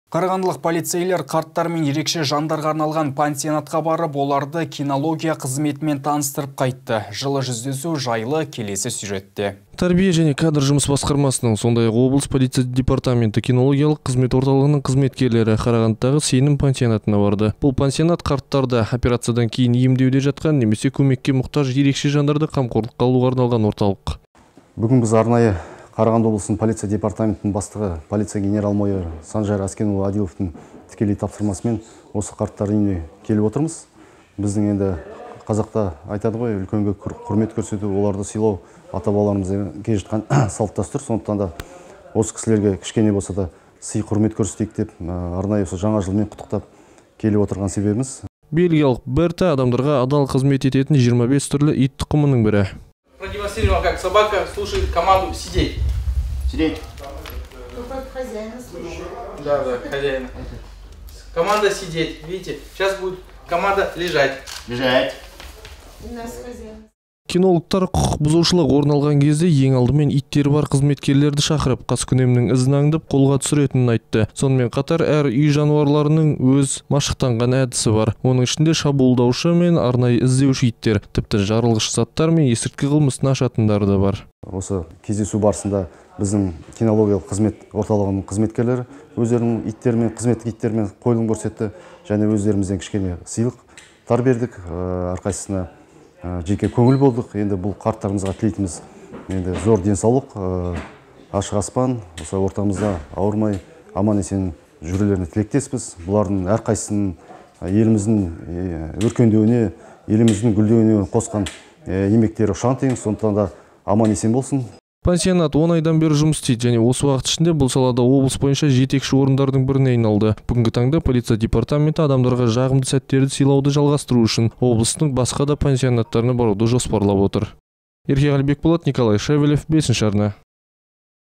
Қарағандылық полицейлер қарттар мен ерекше жандарға арналған пансионатқа барып, оларды кинология қызметімен таныстырып қайтты. Жылы жүздесу жайлы келесі сюжетте. Тәрбие және кадр жұмыс басқармасының, сондай-ақ облыс полиция департаменті кинологиялық қызмет орталығының қызметкерлері Қарағандыдағы Сенім пансионатына барды. Бұл пансионат қарттарды операциядан кейін емдеуде жатқан немесе көмекке мұқтаж ерекше жандарды қамқорлыққа алуға арналған орталық. Бүгін біз арнайы Қарағанды облысының полиция департаментінің бастығы полиция генерал-майор Санжар Аскенұлы Адиловтың тікелей тапсырмасымен осы қарттар үйіне келіп отырмыз. Біздің енді қазақта айтады ғой, үлкенге құрмет көрсету, оларды сыйлау ата-бабаларымыздан келе жатқан салт дәстүр. Сондықтан да осы кісілерге кішкене болса да сый құрмет көрсетейік деп арнайы осы жаңа жылмен құттықтап келіп отырған себебіміз. Бельгиялық Берта адамдарға адал қызмет ететін 25 түрлі ит тұқымының бірі. Продемонстрировал, как собака слушает команду сидеть. Сидеть. Хозяина слушает. Да, хозяина. Команда сидеть. Видите, сейчас будет команда лежать. Лежать. У нас хозяин. Кинологтар құқық бұзушылық орын алған кезде ең алдымен иттері бар қызметкерлерді шақырып, қаскүнемнің ізін аңдып қолға түсіретінін айтты. Сонымен қатар әр үй жануарларының өз машықтанған әдісі бар. Оның ішінде шабуылдаушы мен арнайы іздеуші иттер, тіпті жарылғыш заттар мен есірткі қылмысын ашатындары да бар. Осы кездесу барысында біздің кинологиялық қызмет орталығының қызметкерлері өздерінің иттермен, қызметтік иттермен қойылым көрсетті, және өздерімізден кішкене сыйлықтар бердік, әрқайсысына жеке көңіл болдық. Енді бұл қарттарымызға тілейтіміз енді зор денсаулық, ашық аспан, осы ортамызда ауырмай, аман-есен жүрулеріне тілектеспіз. Бұлардың әрқайсысының еліміздің өркендеуіне, еліміздің гүлдеуіне қосқан еңбектері ұшан теңіз, сондықтан да аман-есен болсын. Пансионат 10 айдан бері жұмыс істейді, және осы уақыт ішінде бұл салада облыс бойынша жетекші орындардың біріне айналды. Бүгінгі таңда полиция департаменті адамдарға жағымды сәттерді сыйлауды жалғастыру үшін облыстың басқа да пансионаттарына баруды жоспарлап отыр. Ерке Қалибек Болат, Николай Шевелев, 5-ші арна.